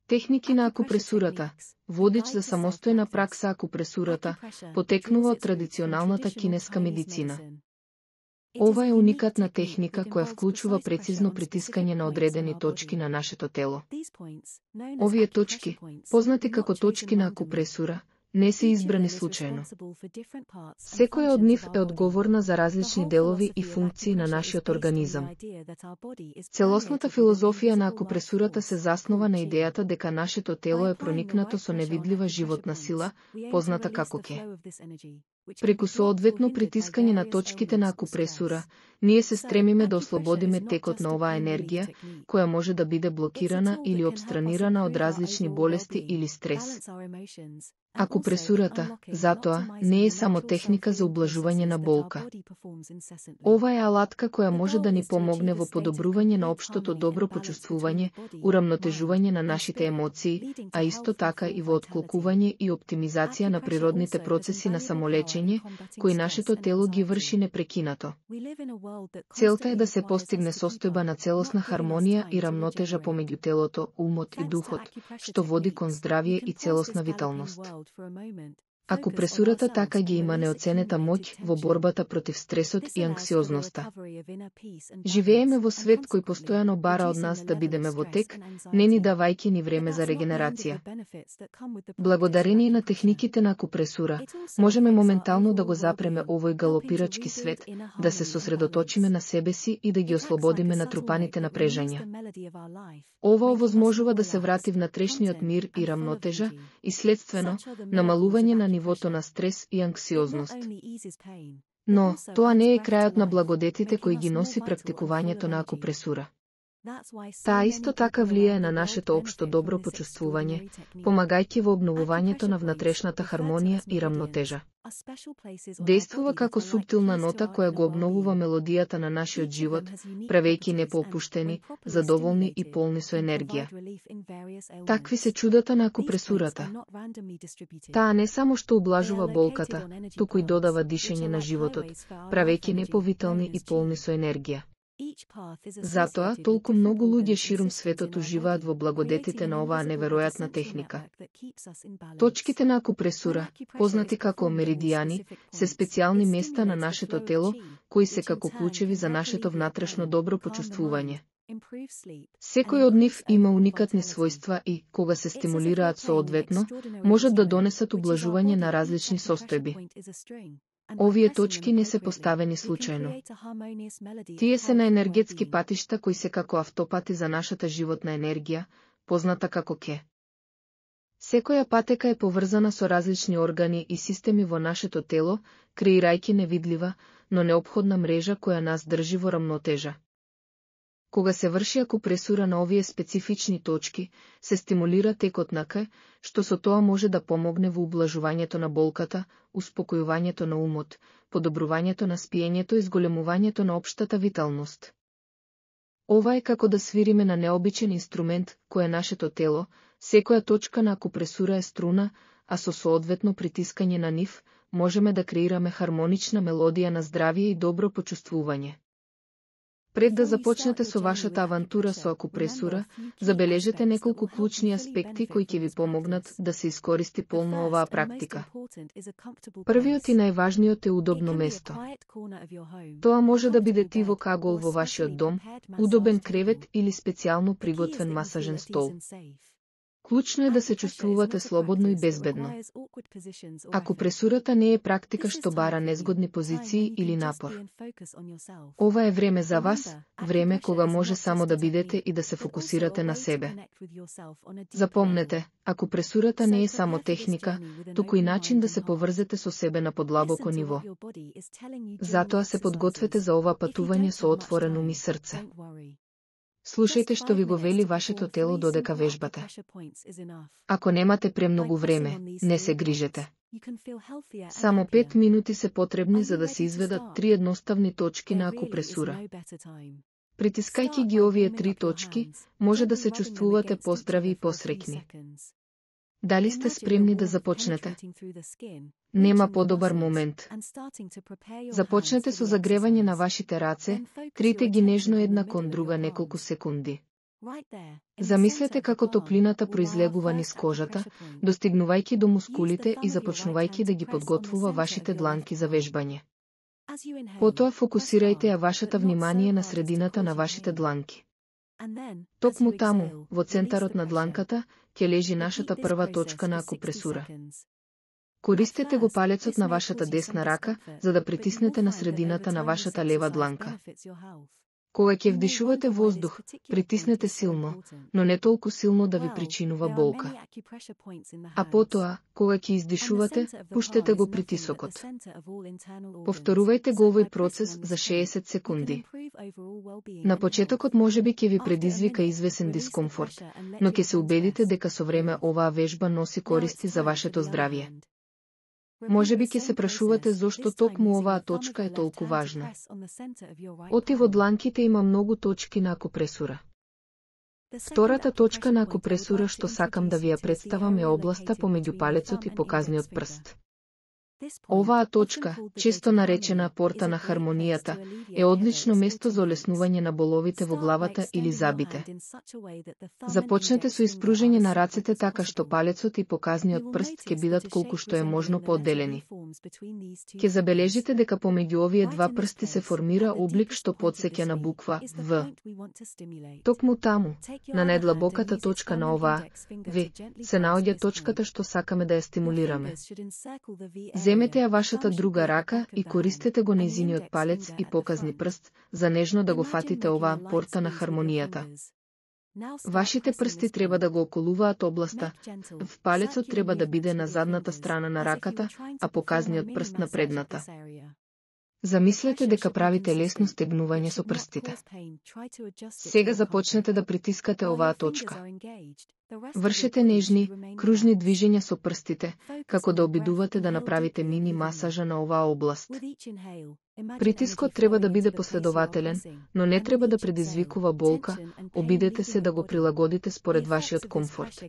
Техники на акупресурата. Водич за самостојна пракса акупресурата потекнува од традиционалната кинеска медицина. Ова е уникатна техника која вклучува прецизно притискање на одредени точки на нашето тело. Овие точки, познати како точки на акупресура, не се избрани случајно. Секоја од нив е одговорна за различни делови и функции на нашиот организам. Целосната филозофија на акупресурата се заснова на идејата дека нашето тело е проникнато со невидлива животна сила, позната како ке. Преку соодветно притискање на точките на акупресура, ние се стремиме да ослободиме текот на оваа енергија, која може да биде блокирана или обстранирана од различни болести или стрес. Акупресурата, затоа, не е само техника за ублажување на болка. Ова е алатка која може да ни помогне во подобрување на општото добро почувствување, урамнотежување на нашите емоции, а исто така и во отклокување и оптимизација на природните процеси на самолечење, кои нашето тело ги врши непрекинато. Целта е да се постигне состојба на целосна хармонија и рамнотежа помеѓу телото, умот и духот, што води кон здравје и целосна виталност. Акупресурата така ги има неоценета моќ во борбата против стресот и анксиозноста. Живееме во свет кој постојано бара од нас да бидеме во тек, не ни давајќи ни време за регенерација. Благодарение на техниките на акупресура, можеме моментално да го запреме овој галопирачки свет, да се сосредоточиме на себе си и да ги ослободиме натрупаните напрежања. Ова овозможува да се врати внатрешниот мир и рамнотежа и следствено намалување на нивото на стрес и анксиозност. Но, тоа не е крајот на благодетите кои ги носи практикувањето на акупресура. Таа исто така влијае на нашето општо добро почувствување, помагајќи во обновувањето на внатрешната хармонија и рамнотежа. Дејствува како суптилна нота која го обновува мелодијата на нашиот живот, правејќи не поопуштени, задоволни и полни со енергија. Такви се чудата на акупресурата. Таа не само што ублажува болката, туку и додава дишење на животот, правејќи не повитални и полни со енергија. Затоа, толку многу луѓе ширум светот уживаат во благодетите на оваа неверојатна техника. Точките на акупресура, познати како меридијани, се специјални места на нашето тело, кои се како клучеви за нашето внатрешно добро почувствување. Секој од нив има уникатни својства и, кога се стимулираат соодветно, можат да донесат ублажување на различни состојби. Овие точки не се поставени случајно. Тие се на енергетски патишта кои се како автопати за нашата животна енергија, позната како ке. Секоја патека е поврзана со различни органи и системи во нашето тело, креирајќи невидлива, но неопходна мрежа која нас држи во рамнотежа. Кога се врши акупресура на овие специфични точки, се стимулира текот на К, што со тоа може да помогне во ублажувањето на болката, успокојувањето на умот, подобрувањето на спиењето и зголемувањето на општата виталност. Ова е како да свириме на необичен инструмент, кој е нашето тело, секоја точка на акупресура е струна, а со соодветно притискање на нив, можеме да креираме хармонична мелодија на здравје и добро почувствување. Пред да започнете со вашата авантура со акупресура, забележете неколку клучни аспекти кои ќе ви помогнат да се искористи полно оваа практика. Првиот и најважниот е удобно место. Тоа може да биде тивок агол во вашиот дом, удобен кревет или специјално приготвен масажен стол. Клучно е да се чувствувате слободно и безбедно. Акупресурата не е практика што бара незгодни позиции или напор. Ова е време за вас, време кога може само да бидете и да се фокусирате на себе. Запомнете, акупресурата не е само техника, туку и начин да се поврзете со себе на подлабоко ниво. Затоа се подгответе за ова патување со отворен ум и срце. Слушајте што ви го вели вашето тело додека вежбате. Ако немате премногу време, не се грижете. Само 5 минути се потребни за да се изведат 3 едноставни точки на акупресура. Притискајќи ги овие 3 точки, може да се чувствувате поздрави и посреќни. Дали сте спремни да започнете? Нема подобар момент. Започнете со загревање на вашите раце, трите ги нежно една кон друга неколку секунди. Замислете како топлината произлегува низ кожата, достигнувајќи до мускулите и започнувајќи да ги подготвува вашите дланки за вежбање. Потоа фокусирајте ја вашата внимание на средината на вашите дланки. Токму таму, во центарот на дланката, ќе лежи нашата прва точка на акупресура. Користете го палецот на вашата десна рака, за да притиснете на средината на вашата лева дланка. Кога ќе вдишувате воздух, притиснете силно, но не толку силно да ви причинува болка. А потоа, кога ќе издишувате, пуштете го притисокот. Повторувајте го овој процес за 60 секунди. На почетокот можеби ќе ви предизвика извесен дискомфорт, но ќе се убедите дека со време оваа вежба носи користи за вашето здравје. Можеби ќе се прашувате зошто токму оваа точка е толку важна. Оти во дланките има многу точки на акупресура. Втората точка на акупресура што сакам да ви ја представам е областа помеѓу палецот и показниот прст. Оваа точка, често наречена порта на хармонијата, е одлично место за олеснување на боловите во главата или зъбите. Започнете со испружење на рацете така што палецот и показниот прст ќе бидат колку што е можно поодделени. Ќе забележите дека помеѓу овие два прсти се формира облик што потсеќа на буква В. Токму таму, на најдлабоката точка на оваа В, се наоѓа точката што сакаме да ја стимулираме. Земете ја вашата друга рака и користете го нејзиниот палец и показни прст, за нежно да го фатите оваа порта на хармонијата. Вашите прсти треба да го околуваат областа, в палецот треба да биде на задната страна на раката, а показниот прст на предната. Замислете дека правите лесно стегнување со прстите. Сега започнете да притискате оваа точка. Вршете нежни, кружни движења со прстите, како да обидувате да направите мини масажа на оваа област. Притискот треба да биде последователен, но не треба да предизвикува болка, обидете се да го прилагодите според вашиот комфорт.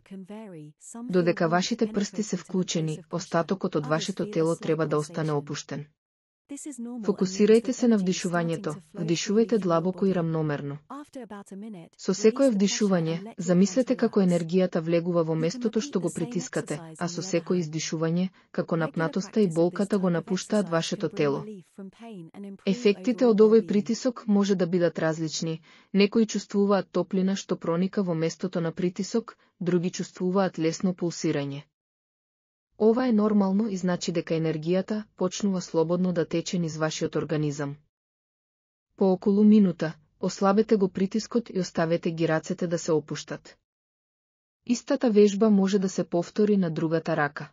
Додека вашите прсти се вклучени, остатокот од вашето тело треба да остане опуштен. Фокусирајте се на вдишувањето, вдишувајте длабоко и рамномерно. Со секое вдишување, замислете како енергијата влегува во местото што го притискате, а со секој издишување, како напнатоста и болката го напуштаат вашето тело. Ефектите од овој притисок може да бидат различни, некои чувствуваат топлина што проника во местото на притисок, други чувствуваат лесно пулсирање. Ова е нормално и значи дека енергијата почнува слободно да тече низ вашиот организам. По околу минута, ослабете го притискот и оставете ги рацете да се опуштат. Истата вежба може да се повтори на другата рака.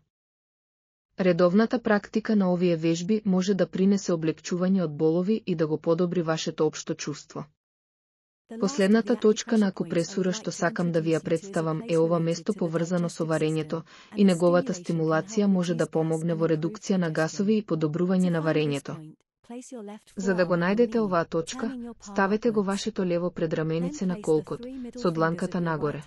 Редовната практика на овие вежби може да принесе облегчување од болови и да го подобри вашето општо чувство. Последната точка на акупресура што сакам да ви ја представам е ова место поврзано со варењето и неговата стимулација може да помогне во редукција на гасови и подобрување на варењето. За да го најдете оваа точка, ставете го вашето лево предраменице на колкот, со дланката нагоре.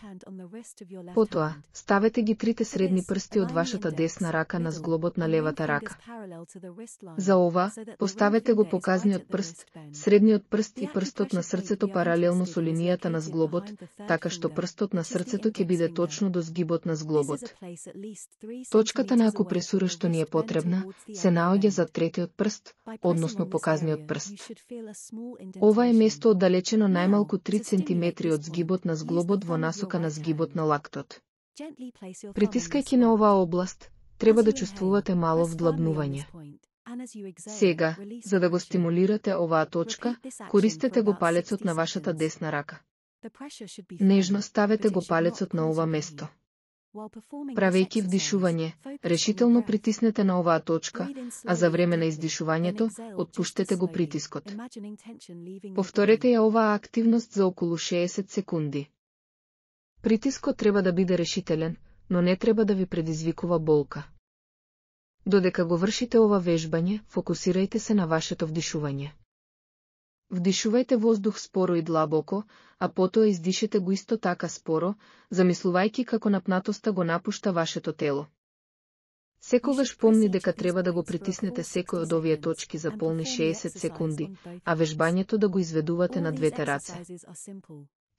Потоа, ставете ги трите средни прсти од вашата десна рака на зглобот на левата рака. За ова, поставете го показниот прст, средниот прст и прстот на срцето паралелно со линијата на зглобот, така што прстот на срцето ќе биде точно до згибот на зглобот. Точката на акупресура што ни е потребна, се наоѓа за третиот прст, односно показниот прст. Ова е место оддалечено најмалку 3 cm од згибот на зглобот во насока на згибот на лактот. Притискајќи на оваа област, треба да чувствувате мало вдлабнување. Сега, за да го стимулирате оваа точка, користете го палецот на вашата десна рака. Нежно ставете го палецот на ова место. Правејќи вдишување, решително притиснете на оваа точка, а за време на издишувањето, отпуштете го притискот. Повторете ја оваа активност за околу 60 секунди. Притискот треба да биде решителен, но не треба да ви предизвикува болка. Додека го вршите ова вежбање, фокусирајте се на вашето вдишување. Вдишувајте воздух споро и длабоко, а потоа издишете го исто така споро, замислувајќи како напнатоста го напушта вашето тело. Секогаш помни дека треба да го притиснете секој од овие точки за полни 60 секунди, а вежбањето да го изведувате на двете раце.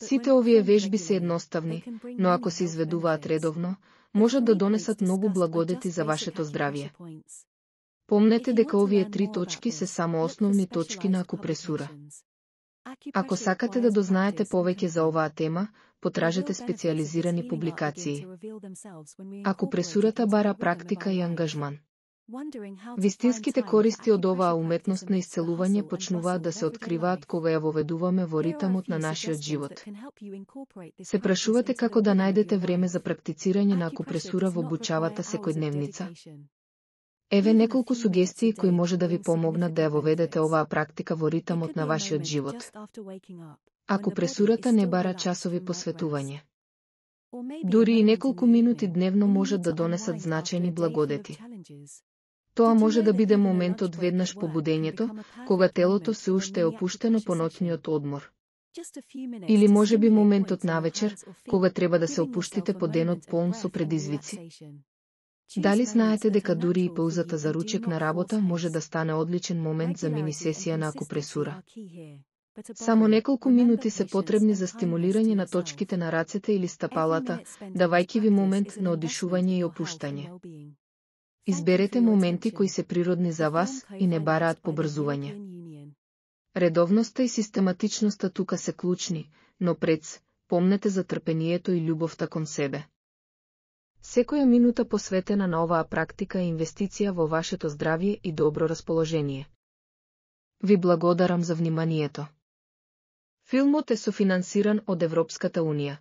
Сите овие вежби се едноставни, но ако се изведуваат редовно, можат да донесат многу благодети за вашето здравје. Помнете дека овие 3 точки се само основни точки на акупресура. Ако сакате да дознаете повеќе за оваа тема, потражете специализирани публикации. Акупресурата бара практика и ангажман. Вистинските користи од оваа уметност на исцелување почнуваат да се откриваат кога ја воведуваме во ритамот на нашиот живот. Се прашувате како да најдете време за практицирање на акупресура во обучавата секојдневница? Еве неколку сугестии кои може да ви помогнат да ја воведете оваа практика во ритамот на вашиот живот. Акупресурата не бара часови посветување. Дури и неколку минути дневно можат да донесат значајни благодети. Тоа може да биде моментот веднаш по будењето, кога телото се уште е опуштено по ноќниот одмор. Или може би моментот навечер, кога треба да се опуштите по денот полн со предизвици. Дали знаете дека дури и паузата за ручек на работа може да стане одличен момент за мини-сесија на акупресура? Само неколку минути се потребни за стимулирање на точките на рацете или стапалата, давајќи ви момент на одишување и опуштање. Изберете моменти кои се природни за вас и не бараат побрзување. Редовноста и систематичноста тука се клучни, но помнете за трпението и љубовта кон себе. Секоја минута посветена на оваа практика е инвестиција во вашето здравје и добро расположение. Ви благодарам за вниманието. Филмот е софинансиран од Европската унија.